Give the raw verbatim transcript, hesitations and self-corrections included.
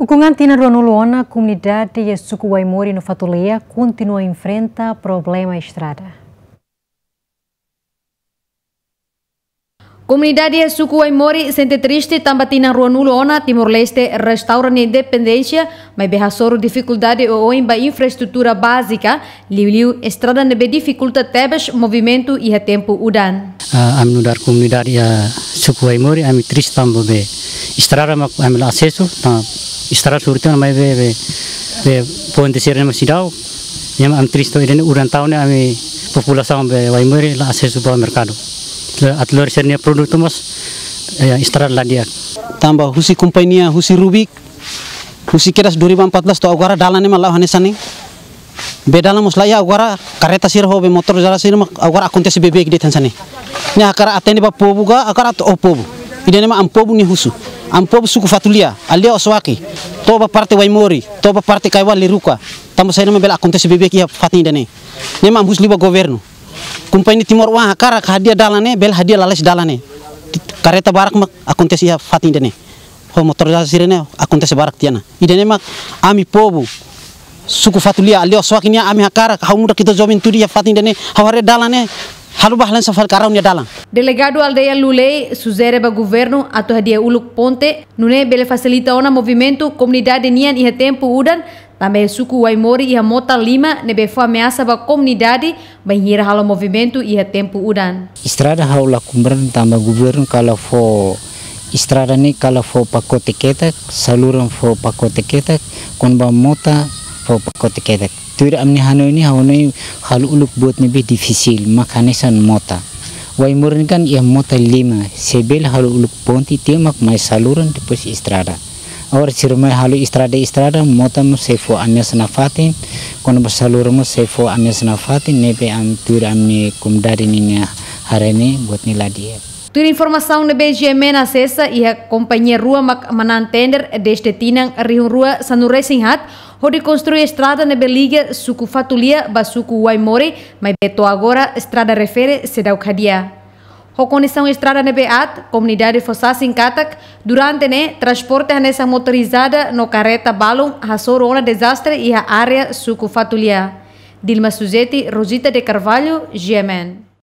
Ukun an tinan ruanulu ona, komunidade iha suku Waimori no Fatulia kontinua enfrenta problema estrada. Komunidade iha suku Waimori sente triste tanba tinan ruanulu ona Timor-Leste restaura nia independénsia, maibé hasoru difikuldade oioin ba infraestrutura bázika, liuliu estrada ne'ebé difikulta tebes movimentu iha tempu udan. Ah, ami nu'udar komunidade iha suku Waimori, ami triste tanba be estrada mak ami la asesu, tanba estrada suru tiha ona maibé be, be, be ponte sira-ne'e mak seidauk, ne'e mak ami triste. Ida-ne'e udan tau ne'e ami populasaun be Waimori la asesu ba merkadu. Atu lori sira-nia produtu mós, eh, estrada la di'ak. Tanba husi kompañia, husi Rubik, husi kedas dua ribu empat belas to'o agora dalan ne'e mak la'o hanesan ne'e. Be dalan mós la iha, agora kareta sira ho be motorizada sira mak agora akontese beibeik de'it hanesan ne'e. Ne'e hakarak atende ba povu ka, hakarak atu oho povu. Ida-ne'e mak ami povu nia husu. Ami povu suku Fatulia, aldeia Osoaki, to'o ba parte Waimori, to'o ba parte Kaiwa Liruka. Tanba saida mak bele akontese beibeik iha fatin ida-ne'e. Ne'e mak ami husu liu ba governu. Kompañia Timor Oan hakarak hadi'a dalan ne'e, bele hadi'a lalais dalan ne'e. Kareta barak mak akontese iha fatin ida-ne'e. Ho motorizada sira-ne'e akontese barak tiha ona. Ida-ne'e mak ami povu suku Fatulia, aldeia Osoaki nian, ami hakarak, ha'u nu'udar ita juventude iha fatin ida-ne'e, ha'u haree dalan ne'e halo ba hanesan fali karau nia dalan. Delegadu aldeia Lulei sujere ba governu atu hadi'a uluk ponte, nune'e bele fasilita ona movimentu komunidade nian iha tempu udan, tanba iha suku Waimori iha mota lima ne'ebé fó ameasa ba komunidade bainhira halo movimentu iha tempu udan. Estrada ha'u la komprende tanba governu kala fó estrada ne'e kala fó pakote ketak, saluran fó pakote ketak, kona-ba mota fó pakote ketak. Tuir ami-nia hanoin ne'e, ha'u hanoin halo uluk boot ne'ebé difisil, mak hanesan mota. Waimori ne'e kan iha mota lima, se bele halo uluk ponte tiha mak mai saluran depois estrada. Agora sira mai halo estrada, estrada, mota mós sei fó ameasa nafatin, kona-ba saluran mós sei fó ameasa nafatin, ne'ebé ami tuir ami-nia komunidade ninia haree ne'e, boot ne'e la di'ak. Tuir informasaun ne'ebé G M N asesa, iha kompañia rua mak manán tender dezde tinan rihun rua sanulu-resin-haat, hodi konstrui estrada ne'ebé liga suku Fatulia ba suku Waimori, maibé to'o agora estrada refere seidauk hadi'a. Ho kondisaun estrada ne'ebé aat, komunidade fó sasin katak, durante ne'e, transporte hanesan motorizada no kareta balun hasoru ona dezastre iha área suku Fatulia. Dilma Suzeti, Rosita de Carvalho, G M N.